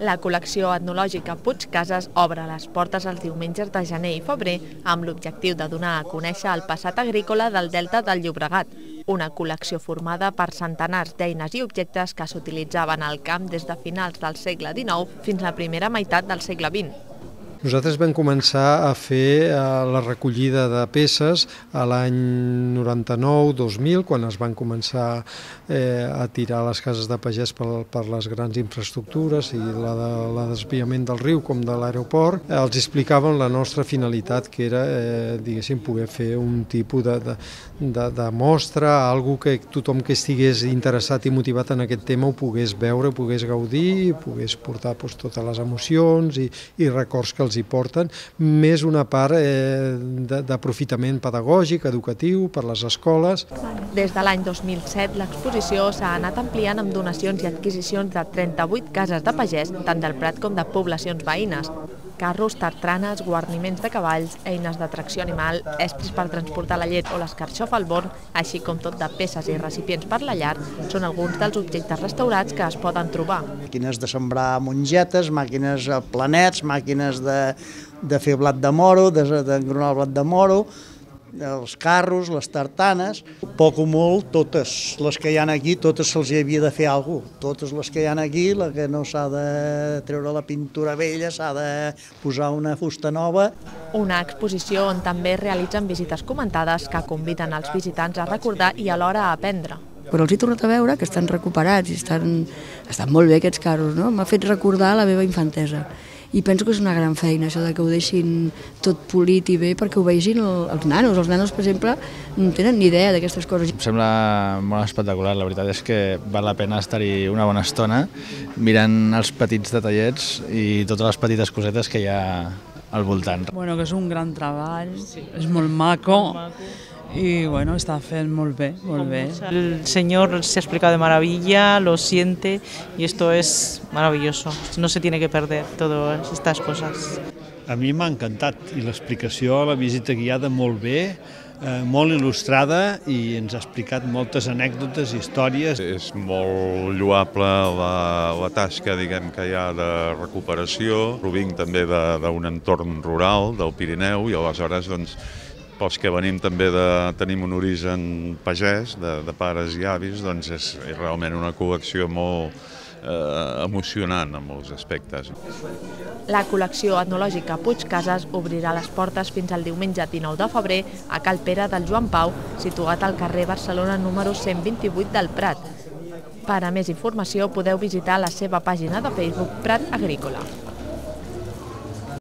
La col·lecció etnològica Puig Cases obre les portes els diumenges de gener i febrer amb l'objectiu de donar a conèixer el passat agrícola del Delta del Llobregat, una col·lecció formada per centenars d'eines i objectes que s'utilitzaven al camp des de finals del segle XIX fins a la primera meitat del segle XX. Nosaltres vam començar a fer la recollida de peces a l'any 99-2000, quan es van començar a tirar les cases de pagès per les grans infraestructures i la desviament del riu com de l'aeroport. Els explicàvem la nostra finalitat, que era, diguéssim, poder fer un tipus de mostra, algo que tothom que estigués interessat i motivat en aquest tema ho pogués veure, ho pogués gaudir, pogués portar totes les emocions i records que els hi porten, més una part d'aprofitament pedagògic, educatiu, per les escoles. Des de l'any 2007, l'exposició s'ha anat ampliant amb donacions i adquisicions de 38 cases de pagès, tant del Prat com de poblacions veïnes. Carros, tartranes, guarniments de cavalls, eines de tracció animal, estris per transportar la llet o l'escarxof al born, així com tot de peces i recipients per la llar, són alguns dels objectes restaurats que es poden trobar. Màquines de sembrar mongetes, màquines planets, màquines de fer blat de moro, d'engronar el blat de moro, els carros, les tartanes, poc o molt, totes les que hi ha aquí, totes se'ls havia de fer alguna cosa. Totes les que hi ha aquí, la que no s'ha de treure la pintura vella, s'ha de posar una fusta nova. Una exposició on també realitzen visites comentades que conviden els visitants a recordar i alhora a aprendre. Però els he tornat a veure que estan recuperats i estan molt bé aquests carros, no? M'ha fet recordar la meva infantesa. I penso que és una gran feina, això de que ho deixin tot polit i bé, perquè ho vegin els nanos. Els nanos, per exemple, no tenen ni idea d'aquestes coses. Em sembla molt espectacular, la veritat és que val la pena estar-hi una bona estona mirant els petits detallets i totes les petites cosetes que hi ha al voltant. Bueno, que és un gran treball, és molt maco. Y bueno, está haciendo muy bien, muy bien. El señor se ha explicado de maravilla, lo siente y esto es maravilloso. No se tiene que perder todas estas cosas. A mi m'ha encantat i l'explicació, la visita guiada molt bé, molt il·lustrada i ens ha explicat moltes anècdotes i històries. És molt lloable la tasca, diguem, que hi ha de recuperació. Provinc també d'un entorn rural del Pirineu i aleshores, doncs, pels que venim també tenim un origen pagès, de pares i avis, doncs és realment una col·lecció molt emocionant en molts aspectes. La col·lecció etnològica Puig Cases obrirà les portes fins al diumenge 19 de febrer a Cal Pere del Joan Pau, situat al carrer Barcelona número 128 del Prat. Per a més informació podeu visitar la seva pàgina de Facebook Prat Agrícola.